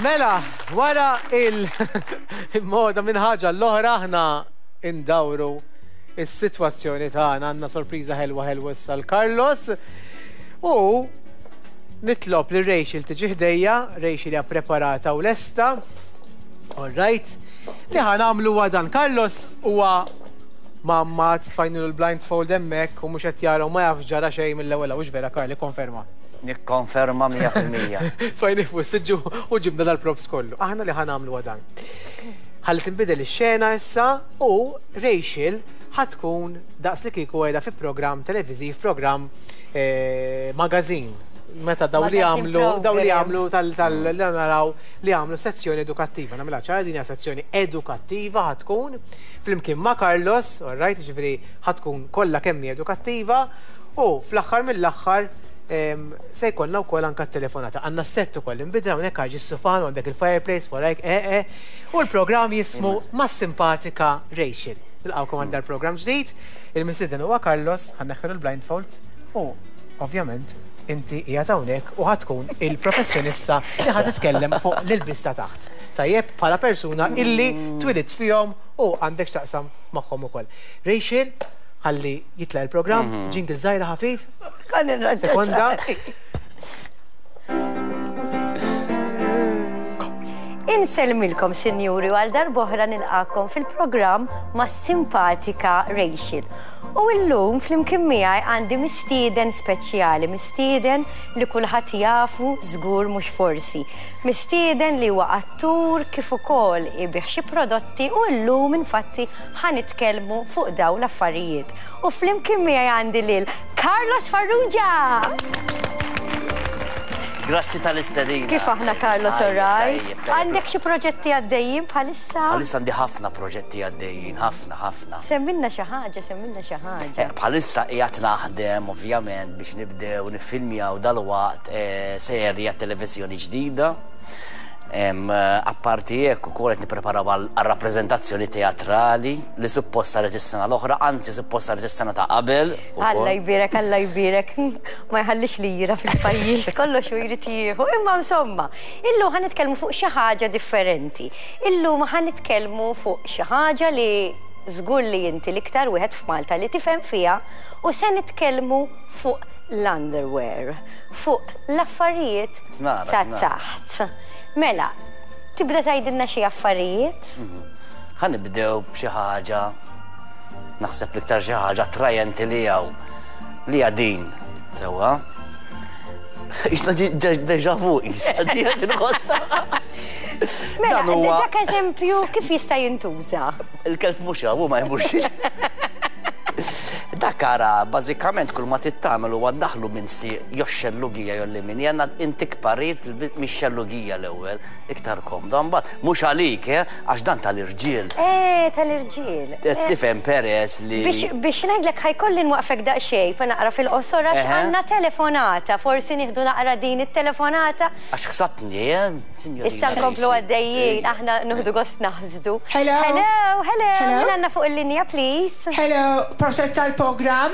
Mela, wara il-moda minn ħaġa l-oħra aħna indawru is-sitwazzjoni tagħna għandna sorpriża ħelwa ħelwa issa l-Carlos. U nitlob li Rachel tiġi ħdejja, Rachel hija preparata u lesta. All right. Li ħa nagħmlu huwa dan Carlos huwa mamma tfajnilu l-blindfold hemmhekk u mhux qed jara u ma jafx ġara xejn mill-ewwel hawnx vera Karli konferma. Nikkonferma 100%. Tfajnih fuq is-siġġu u ġibna dal-props kollu. Aħna li ħa nagħmlu huwa dan. Ħalli tinbidel ix-xena issa u Rachel ħa tkun daqs li kieku qiegħda fi programm televiżiv, programm eh, magazine. Meta daw li jagħmlu daw li jagħmlu tal li naraw li jagħmlu sezzjoni edukattiva. Nagħmilha ċara din hija sezzjoni edukattiva ħa tkun flimkien ma' Carlos, all right, jiġifieri ħa tkun kollha kemm hi edukattiva u fl-aħħar mill-aħħar se jkollna wkoll anke t-telefonata. Għandna s-sett ukoll inbidel hawnhekk għax is-sufan u għandek il-fireplace warajk eh eh. U l-programm jismu Mas-Simpatika Rachel. Nilqgħukom għal dal-programm ġdid. Il-mistieden huwa Carlos, ħa nneħħilu l-blindfold u ovvjament inti qiegħed hawnhekk u ħa tkun il-professjonista li ħa titkellem fuq l-ilbies ta' taħt. Tajjeb, bħala persuna illi twilidt fihom u għandek x'taqsam magħhom ukoll. Rachel, ħalli jitlaq il-programm, jingle żgħira ħafif. Sekonda. Insellmilkom, sinjuri, u għal darb'oħra nilqakom fil-programm ma' simpatika Rachel. U illum flimkien miegħi għandi mistieden speċjali, mistieden li kulħadd jafu żgur mhux forsi. Mistieden li huwa attur kif ukoll ibigħ xi prodotti u llum infatti ħa nitkellmu fuq dawn l-affarijiet. U flimkien miegħi għandi lil Carlos Farrugia! Grazzi tal-istedina. Kif aħna Carlos alright? Għandek xi proġetti għaddejjin bħalissa? Bħalissa għandi ħafna proġetti għaddejjin, ħafna, ħafna. Semmilna xi ħaġa, semmilna xi ħaġa. Eh, bħalissa qiegħed naħdem ovvjament biex nibdew niffilmjaw dalwaqt eh, serja televiżjoni ġdida. Apparti hekk ukoll qed nippreparaw għal rappreżentazzjoni teatrali li suppost saret is-sena l-oħra, anzi suppost saret is-sena ta' qabel. Alla jbierek, Alla jbierek, ma jħallix lira fil-pajjiż, kollox u jrid jieħu. Imma insomma, illum ħa nitkellmu fuq xi ħaġa differenti. Illum ħa nitkellmu fuq xi ħaġa li żgur li inti l-iktar wieħed f'Malta li tifhem fiha u se nitkellmu fuq l-underwear, fuq l-affarijiet ta' taħt. Mela, tibda tgħidilna xi affarijiet? Mhm. Ħa nibdew b'xi ħaġa, naħseb l-iktar xi ħaġa attrajenti li hawn li hija din. Sewwa. Isna deja vu, isna di inħossa. Mela, dak eżempju kif jista' jintuża? Il-kelb mhux hawn, ma jmurx. Dak ara, bażikament kull ma tittamel huwa daħlu minn si jew xellugija jew lemin. Jena intik parir mix-xellugija l-ewwel, iktar komda. Mbagħad mhux għalik, eh, għax dan tal-irġiel. Eh, tal-irġiel. Qed tifhem peress li. Biex ngħidlek ħa jkolli nwaqfek daqsxejn fa naqra fil-qosor għax għandna telefonata, forsi nieħdu naqra din it-telefonata. Għax ħsabtni, eh, signorina. Issa nkomplu għaddejjin, aħna nieħdu gost naħsdu. Hello. Hello, hello. Min għandna fuq il-linja, please? Hello, proset tal-programm.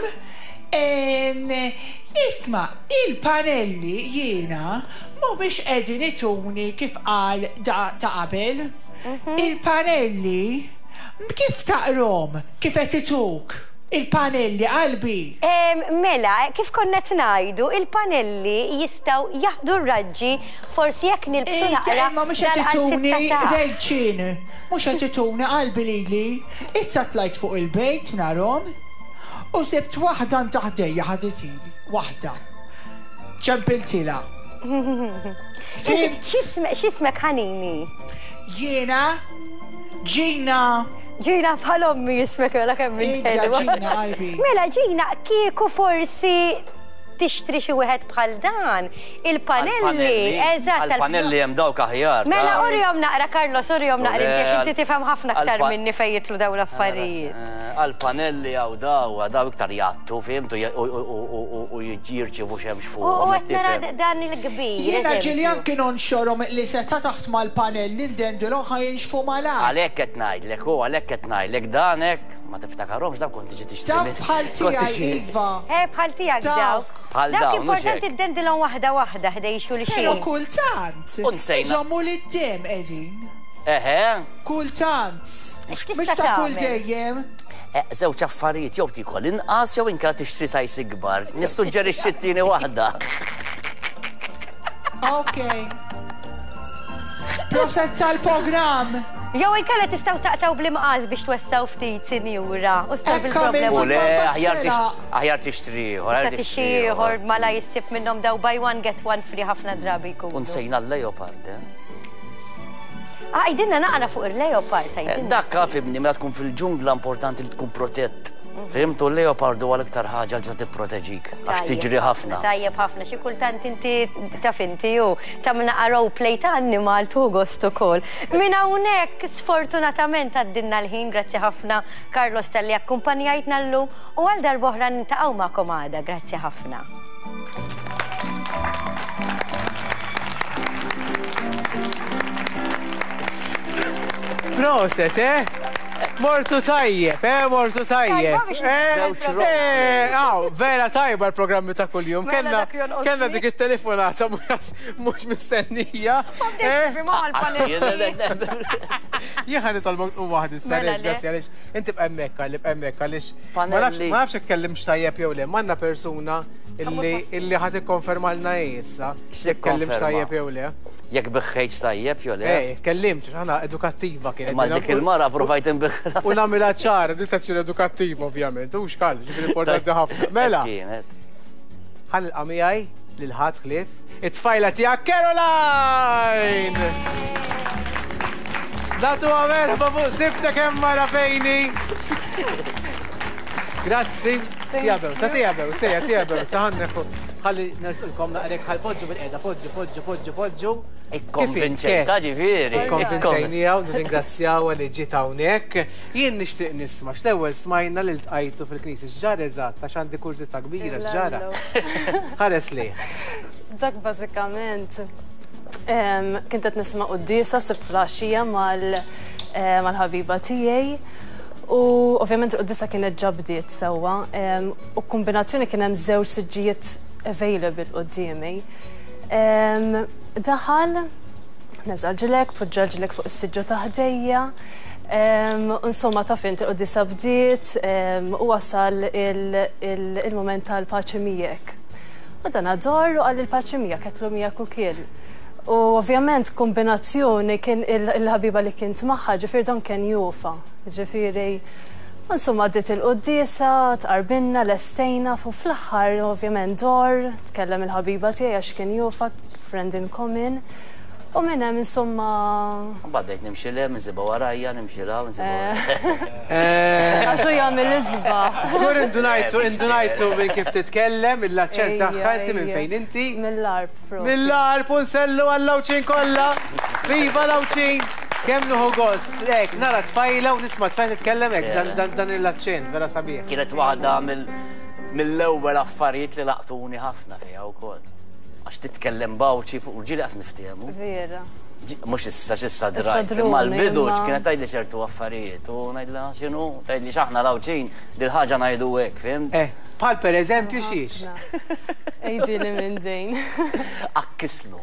Isma, il-panelli jiena mhumiex qegħdin ituni kif qal da ta' qabel. Il-panelli kif taqrom, kif qed ituk? Il-panelli qalbi. Mela, kif konna qed ngħidu, il-panelli jistgħu jaħdu r-raġġi forsi jekk nilbsu naqra Imma mhux qed ituni rejċin, mhux qed ituni qalbi lili. Issa tlajt fuq il-bejt narhom u sibt waħda ta' ħdejja ħaditili, waħda. Ċempiltilha. Fhimt? X'ismek ħanini? Jiena Gina. Gina bħal ommi jismek mela kemm int Ija Gina qalbi. Mela Gina, kieku forsi tixtri xi wieħed bħal dan, il-panelli, eżatt. Għal-panelli hemm dawk aħjar. Mela urihom naqra Carlos, urihom naqra inti għax inti tifhem ħafna aktar minni fejn jidħlu dawn l-affarijiet. Għal-panelli hawn daw, daw iktar jgħattu, fhimt, u jirċievu xemx fuq. U qed nara dan il-kbir. Jiena ġieli anki nonxorhom li seta' taħt mal-panelli ndendilhom ħa jinxfu malajr. Għalhekk qed ngħidlek, u għalhekk qed ngħidlek dan hekk. Ma tiftakarhomx dawk kont tiġi tixtri. Dawk bħal tiegħi iva. Eh bħal tiegħek dawk. Bħal Dawk dawn, mhux importanti hekk. ddendilhom waħda waħda ħdej xulxin. Però kultant. U nsejna. Iżommu lid-dem qegħdin. Eħe. Kultant. X'tista' Mhux ta' kull tagħmel? dejjem. Eh, żewġ affarijiet jew tikol inqas jew inkella tixtri sajs ikbar. Nissuġġerixxi t-tieni waħda. Ok. Proset tal-programm. Jew inkella tistgħu taqtgħu bl-imqas biex twessaw ftit, sinjura, u ssolvi Hekk l-problema. U le, aħjar Bambacella. aħjar tixtri ieħor, aħjar Tista' tixtri ieħor mala jissib minnhom daw buy one get one free ħafna drabi U jkunu. nsejna l-leopard, eh? Ah, għidilna naqra fuq il-leopard, għidilna. Dakka fimni, mela tkun fil-ġungla importanti li tkun protett. Fimtu l-leopard huwa l-iktar ħaġa li tista' tipproteġik għax Tajjeb tiġri ħafna. Tajjeb ħafna, xi kultant inti taf inti ju tagħmel naqra role play ta' annimal tu gost ukoll. Minn hawnhekk sfortunatament għaddilna l-ħin, grazzi ħafna Carlos talli akkumpanjajtna llum u għal darb'oħra niltaqgħu magħkom għada, grazzi ħafna. Proset, eh? Mortu tajjeb, eh? Mortu tajjeb. Tajba biex Eh, Żewġ eh, aw, vera tajba l-programmi ta' kuljum. Mela Kellna dak jonqos kellna li. dik it-telefonata mhux mistennija. Eh? Jien ħa nitolbok tqum waħdi issa Mela għaliex, le. grazzi għaliex inti bqa' hemmhekk għalli bqa' hemmhekk għaliex ma nafx Panelli. ma nafx itkellimx tajjeb jew le, m'għandna persuna illi illi ħa tikkonfermalna hi issa. Tkellimx X'tikkonferma? tajjeb jew le. Jekk biħħejt tajjeb jew le. Ej, tkellimx għax aħna edukattiva kienet. Ma dik il-mara provajt inbiħħla. U nagħmilha ċara, di sezzjoni edukattiva ovvjament, u xkal, ġifieri importanti ħafna. Mela, Kienet. ħa nilqa' miegħi lil ħadd ħlief it-tfajla tiegħek Caroline! Nagħtuha merħba fuq sibta kemm mara fejni. Grazzi. Tijabew, sa tijabew, sejja tijabew, sa ħanneħu. Ħalli nersulkom naqrek ħal poġġu bil-qeda, poġġu, poġġu, poġġu, poġġu. Ikkonvinċejta ġifieri. Ikkonvinċejnija u nirringrazzjaw li ġiet hawnhekk. Jien nixtieq nisma' x'l-ewwel smajna li ltqajtu fil-knisja x'ġara eżatt għax għandi kurżità kbira x'ġara. Ħares lejh. Dak bażikament kint qed nisma' quddiesa sibt flaxija mal-ħabiba tiegħi. U ovvjament il-quddiesa kienet ġa bdiet sewwa, u kombinazzjoni kien hemm żewġ siġġijiet available quddiemi. Daħal, neża' l-ġilek, poġġa l-ġilek fuq is-siġġu ta' ħdejja. Insomma, taf inti quddiesa bdiet, u wasal il-moment tal-paċi miegħek. U dan ador u qal il-paċi miegħek, għedtlu miegħek ukoll. U ovvjament kombinazzjoni kien il-ħabiba li kient magħha, ġifieri dan kien jufa. Ġifieri, insomma, għaddiet il-quddiesa, tqarbinna, lestejna, fu fl-aħħar ovvjament dor, tkellem il-ħabiba tiegħi għax kien jufa, friend in common. U minn hemm insomma. Mbagħad bdejt nimxi le, minsiba warajja, nimxi la, minsiba warajja. Għax hu jagħmel isbaħ. Żgur indunajtu, indunajtu minn kif titkellem, mill-aċċent tagħha, inti minn fejn inti? Mill-Għarb, propju. Mill-Għarb u nsellu għall-Għawdxin kollha. Viva l-Għawdxin! Kemm nieħu gost, hekk nara tfajla u nisma' tfajla titkellem hekk, dan l-aċċent vera sabiħ. Kienet waħda mill-ewwel affarijiet li laqtuni ħafna fiha wkoll. Għax titkellem bawċi fuq ġieli qas niftehmu. Vera. Mhux issa x'issa drajt, Issa imma druni, l-bidu imma kienet tgħidli ċertu affarijiet u ngħidilha x'inhu, tgħidli x'aħna l-Għawdxin dil-ħaġa ngħidu hekk, fimt? Eh, bħal pereżempju xiex? Għidili minn din. Akkislu.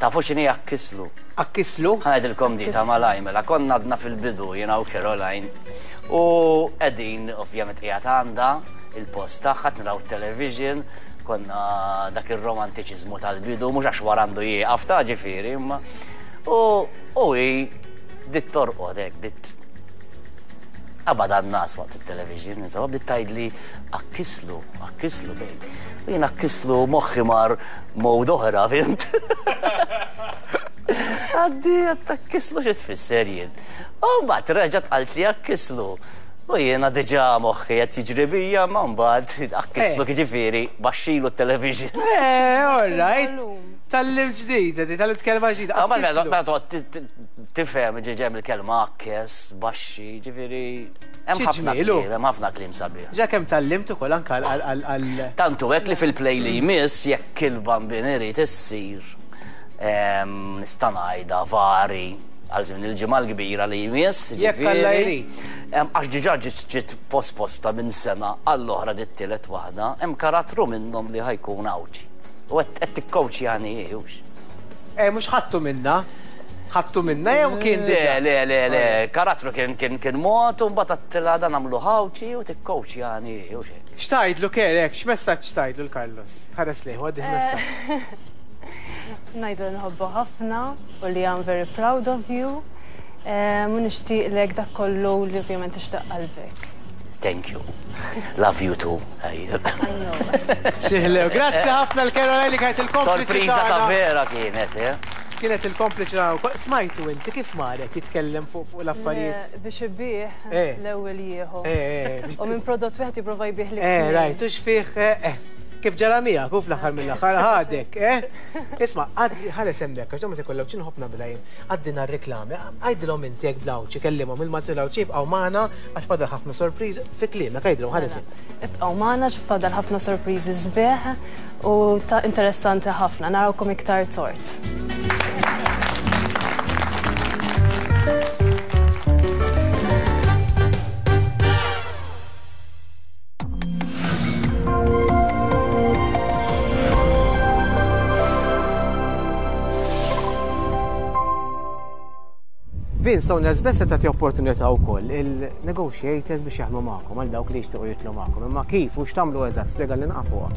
Tafu x'inhi akkislu? Akkislu? Ħa ngħidilkom di ta' malaj, mela konna għadna fil-bidu jiena u Caroline u qegħdin ovvjament qiegħed għandha il-post tagħha naraw television, konna dak ir-romantiċiżmu tal-bidu, mhux għax wara għandu jieqaf ta' ġifieri, imma u hi bdiet torqod hekk, bdiet qabad għan-nas waqt it-television, insomma, bdiet tgħidli akkislu, akkislu bejn. U jien akkislu moħħi mar mod oħra, fhimt? Għaddi, għattakkislu xi tfisser jien. U mbagħad reġgħet qalt li akkislu. U jiena diġà moħħi qed jiġri bija, ma mbagħad akkislu jiġifieri baxxilu t-television. Eh, all right. Tal-lim ġdida, di tal-lim kelma ġdida. Ah, ma mela, mela toqgħod tifhem ġeġem il-kelma akkes, baxxi, ġifieri. Hemm Xi ħafna ġmielu. kliem, hemm ħafna kliem sabiħ. Ġa kemm tallimt ukoll anke għal Tantu hekk li fil-play li jmiss jekk il-bambin irid issir nista' ngħidha vari. Għal żmien il-ġimgħa l-kbira li jmiss, Jekk Alla jrid. Għax diġà ġiet posposta minn sena għall-oħra dit-tielet waħda, hemm karattru minnhom li ħa jkun Għawdxi. U qed tikkowċjani hi, hux? Eh, mhux ħadtu minna. Ħadtu minna jew kien diġà? Le, le, le, le, karattru kien kien kien mod u mbagħad għedtilha dan nagħmluh Għawdxi u tikkowċjani hi, hux hekk? X'tgħidlu Kerek? X'messaġġ tgħidlu 'l Carlos? Ħares lejh u għaddih messaġġ. Ngħidlu li nħobbu ħafna u li I'm very proud of you u nixtieqlek dak kollu li ovvjament tixtieq qalbek. Thank you. Love you too. I know. Xi ħlew. Grazzi ħafna l-Caroline li kienet il-kompliċi. Sorpriża ta' vera kienet, eh? Kienet il-kompliċi tagħna wkoll. Smajtu inti kif marek jitkellem fuq fuq l-affarijiet? Biex ibih l-ewwel jieħu. U minn prodott wieħed jipprova jbih l Eh, rajt, u x'fih, eh. Kif ġara miegħek u fl-aħħar mill-aħħar ħadek, eh? Isma', għaddi ħares hemmhekk għax meta jkollok xi nħobb nagħmilha jien. Għaddina r-reklami, għidilhom inti hekk bl-Għawdxi, kellimhom il-Malti u l-Għawdxi jibqgħu magħna għax fadal ħafna sorpriżi fi kliemek għidilhom ħares hemm. Ibqgħu magħna għax fadal ħafna sorpriżi sbieħ u ta' interessanti ħafna. Narawkom iktar tort. Vince Stoner's Best tagħti opportunità wkoll il-negotiators biex jaħdmu magħkom għal dawk li jixtiequ jitlu magħkom. Imma kif u x'tagħmlu eżatt spjega li naqa' fuqha.